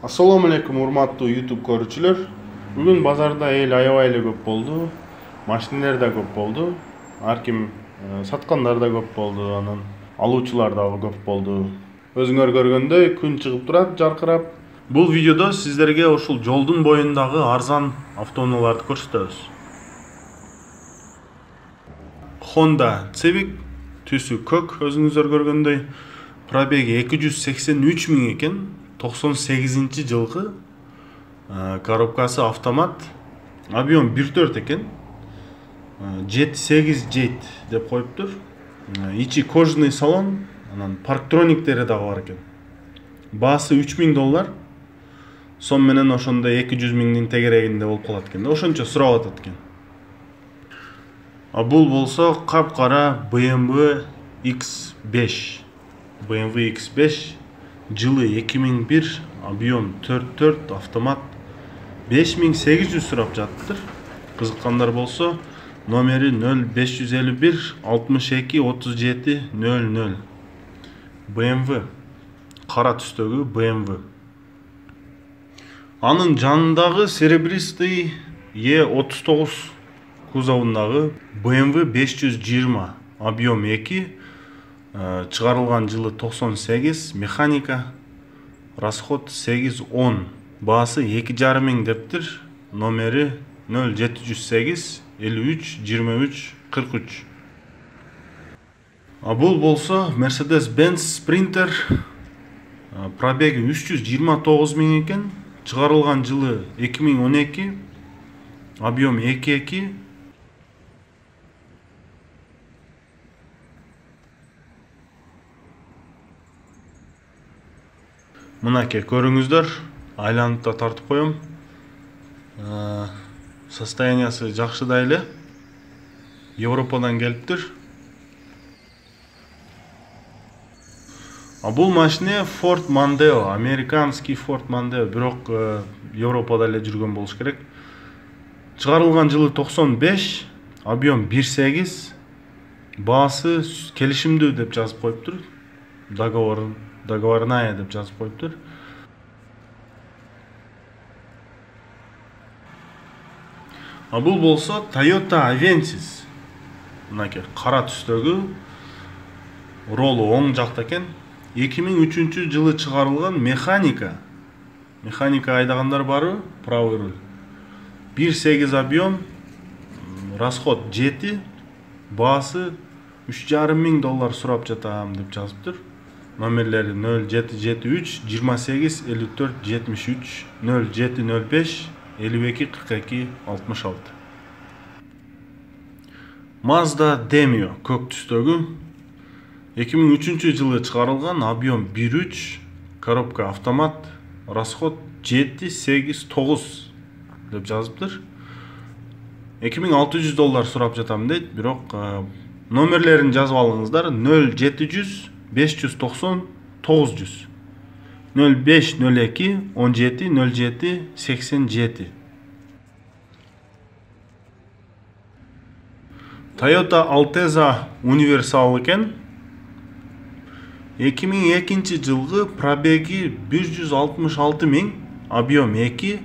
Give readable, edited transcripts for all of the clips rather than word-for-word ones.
Assalomu alaykum урматтуу YouTube көрүүчүлөр. Бүгүн базарда эл аябай эле көп болду. Машиналар да көп болду. Ар ким саткандар да көп болду, анан алуучулар дагы көп болду. Өзүңөр көргөндөй күн чыгып турат жаркырап. Бул видеодо сиздерге ушул жолдун боюндагы арзан автоунааларды көрсөтөбүз. Honda Civic түсү көк, өзүңүздөр көргөндөй, пробеги 283 миң экен. 98-жылкы, коробкасы автомат, объем 1.4 экен, 7-8 жейт деп коюптур. Ичи кожаный салон, анан парктрониктери дагы бар экен. Баасы $3000, сом менен ошондо 200 миңдин тегерегинде болуп калат экен. Ошончо сурап атат экен. А бул болсо капкара BMW X5. BMW X5 жылы 2001, объем 4.4, автомат 5800 сурап жатыптыр. Кызыккандар болсо, номери 0551 62 37 00. BMW, кара түстөгү BMW. Анын жанындагы серебристый E39 кузовундагы BMW 520, объем 2, чыгарылган жылы 98, механика, расход 8-10, баасы 2,5 миң дептир, номери 0708 53 23 43. А бул болсо Mercedes-Benz Sprinter, пробеги 329 миң экен, чыгарылган жылы 2012, объем 2,2. Мынаке көрүңүздөр, айланып да тартып коем. Состояниясы жакшы да эле. Европадан келиптир. А бул машина Ford Mondeo, американский Ford Mondeo, бирок Европада эле жүргөн болуш керек. Чыгарылган жылы 95, объем 1.8, баасы келишимдүү деп жазып коюптур. Договорная деп жазып коюптур. А бул болсо Toyota Avensis. Мынаке кара түстөгү, ролу оң жакта экен. 2003 жылы чыгарылган механика. Механика айдагандар барбы? Правый руль. 1.8 объем, расход 7, баасы $3,5 миң сурап жатам деп жазыптыр. Номерлери 0773 28 54 73 0705 52 42 66. Mazda Demio көк түстөгү, 2003 жылы чыгарылган, объем 1.3, коробка автомат, расход 7-8-9 деп жазыптыр. $2600 сурап жатам дейт, бирок номерлерин жазып алыңыздар. 0700 590 900 05 02 17 07 87. Toyota Altezza универсал экен. 2002 жылгы, пробеги 166 миң, объем 2,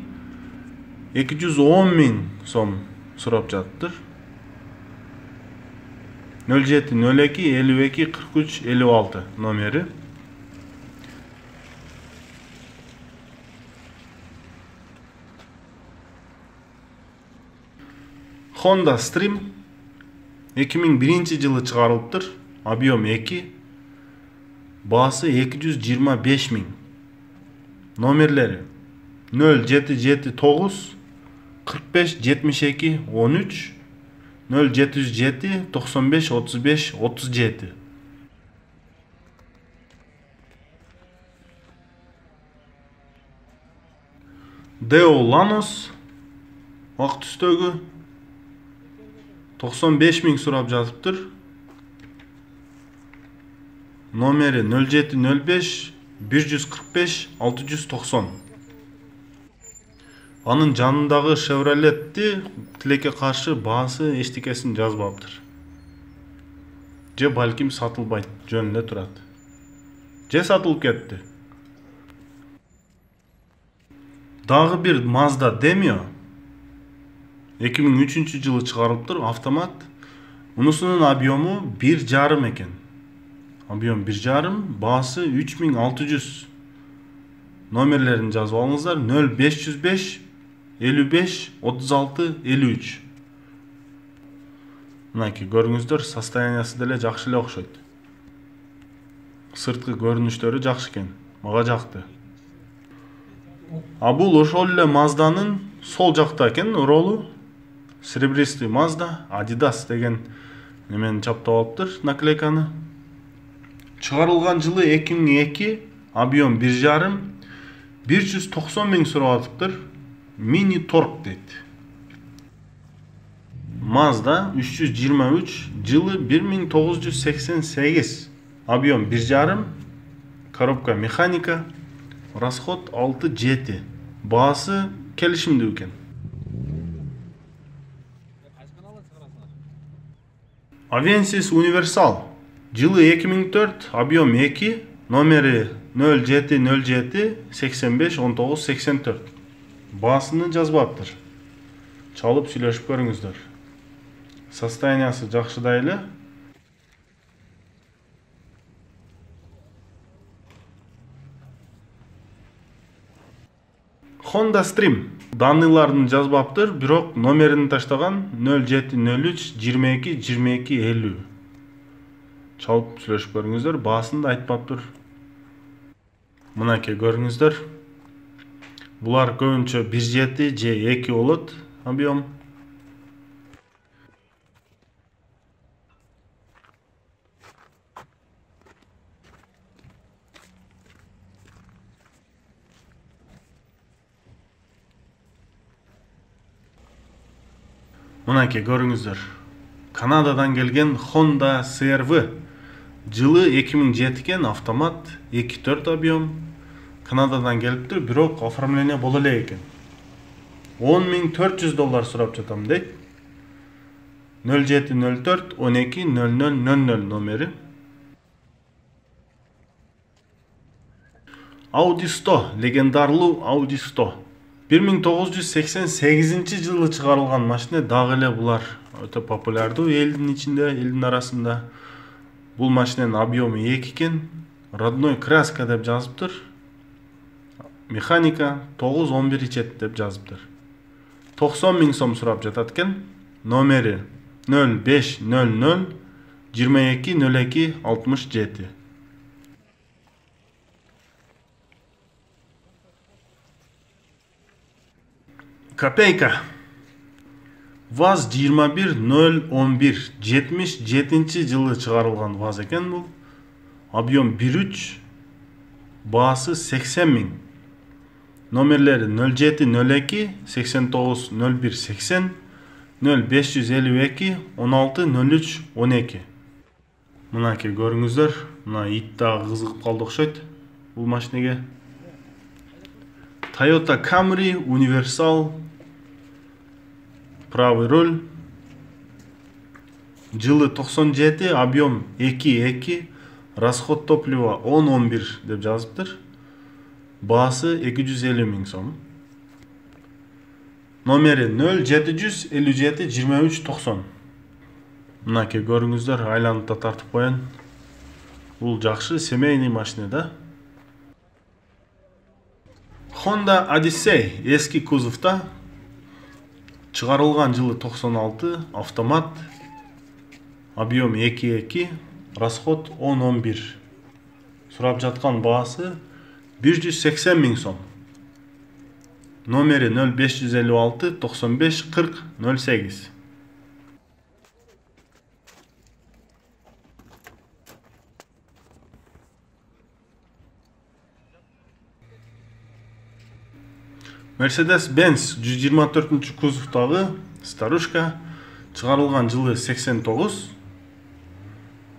210 миң сом сурап жатыптыр. 07 02 52 43 56 номери. Honda Stream 2001 жылы чыгарылыптыр, объем 2, баасы 225 миң. Номерлери 0779 45 72 13 0707 95 35 37. Deo Lanos ак түстөгү, 95 миң сурап жазыптыр. Номери 0705 145 690. Анын жанындагы Chevrolet'ти тилекке каршы баасы эчтекесин жазбаптыр. Же балким сатылбайт, жөнүндө турат. Же сатылып кетти. Дагы бир Mazda Demio 2003-жылы чыгарылыптыр, автомат. Мунусунун объему 1,5 экен. Объем 1,5, баасы 3600. Номерлерин жазып алыңыздар. 0505 55 36 53. Мынакей көрүңүздөр, состояниясы деле жакшы эле окшойт. Сырткы көрүнүштөрү жакшы экен. Мага жакты. А бул ошол эле Mazdanын сол жакта экен ролу. Серебристый Mazda, Adidas деген немени чаптап алыптыр, наклейканы. Чыгарылган жылы 2002, объем 1,5, 190 миң сурап атыптыр. Mini Torque дейт. Mazda 323, жылы 1988, объем 1,5, коробка механика, расход 6,7, баасы келишимдүү экен. Avensis Universal, жылы 2004, объем 2, номери 0707 85 19 84. Баасыны жазбаптыр. Чалып сүйлөшүп көрүңүздөр. Состояниясы жакшыдай эле. Honda Stream даныларын жазбаптыр, бирок номерин таштаган 0703 22 22 50. Чалып сүйлөшүп көрүңүздөр, баасын да айтпаптыр. Мынакей көрүңүздөр. Булар көбүнчө 1,7 же 2 болот объем. Мынакей көрүңүздөр. Канададан келген Honda CR-V. Жылы 2007 экен, автомат, 2,4 объем. Канададан келиптир, бирок оформление боло эле экен. $10,400 сурап жатам дейт. 0704 12 0000 номери. Audi 100, легендарлуу Audi 100. 1988 жылы чыгарылган машина, дагы эле булар өтө популярдуу элдин ичинде, элдин арасында. Бул машинанын объему 2 экен, родной краска деп жазыптыр. Механика 9-11 ичет деп жазыптыр. 90 миң сом сурап жатат экен. Номери 0500 22 02 67. Копейка. ВАЗ 21011 77 жылы чыгарылган ВАЗ экен бул. Объем 1,3, баасы 80 миң. Номерлери 0702 89 01 80 0552 16 03 12. Мынакей көрүңүздөр, мына ит дагы кызыгып калды окшойт бул машинеге. Toyota Camry Universal, правый руль. Жылы 97, объем 2,2, расход топлива 10-11 деп жазыптыр. Баасы 250 миң сом. Номери 0757 23 90. Мынакей көрүңүздөр, айланып да тартып коён. Бул жакшы семейный машина да. Honda Odyssey эски кузовта, чыгарылган жылы 96, автомат, объем 2,2, расход 10-11. Сурап жаткан баасы 180 миң сом. Номери 0556 95 40 08. Mercedes-Benz 124 кузовтагы старушка, чыгарылган жылы 89,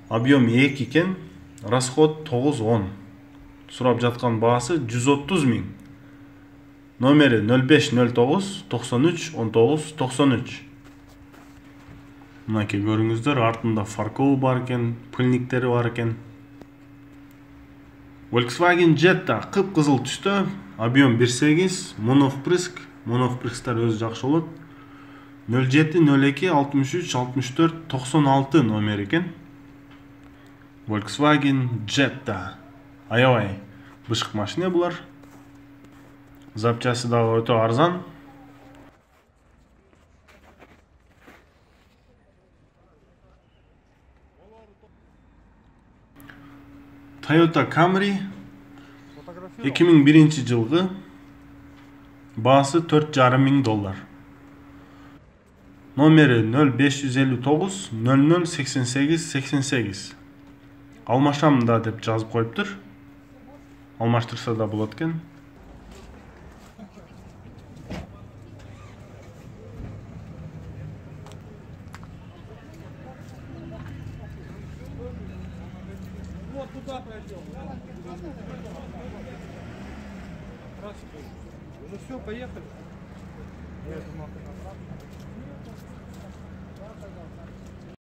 объем 2 экен, расход 9-10. Сурап жаткан баасы 130 миң. Номери 0509 93 19 93. Мынакей көрүңүздөр, артында фарколу бар экен, пыльниктери бар экен. Volkswagen Jetta кып-кызыл түстө, объем 1.8, моновпрысктар өзү жакшы болот. 0702636496 номер экен. Volkswagen Jetta. Аябай бышык машина булар. Запчасты дагы өтө арзан. Toyota Camry 2001 жылгы, баасы $4,500. Номери 0559 00 88 88. Алмашам да деп жазып коюптур. Алмаштырса да болот экен. Вот туда пройдем. Ну все, поехали. Я думал, ты направо.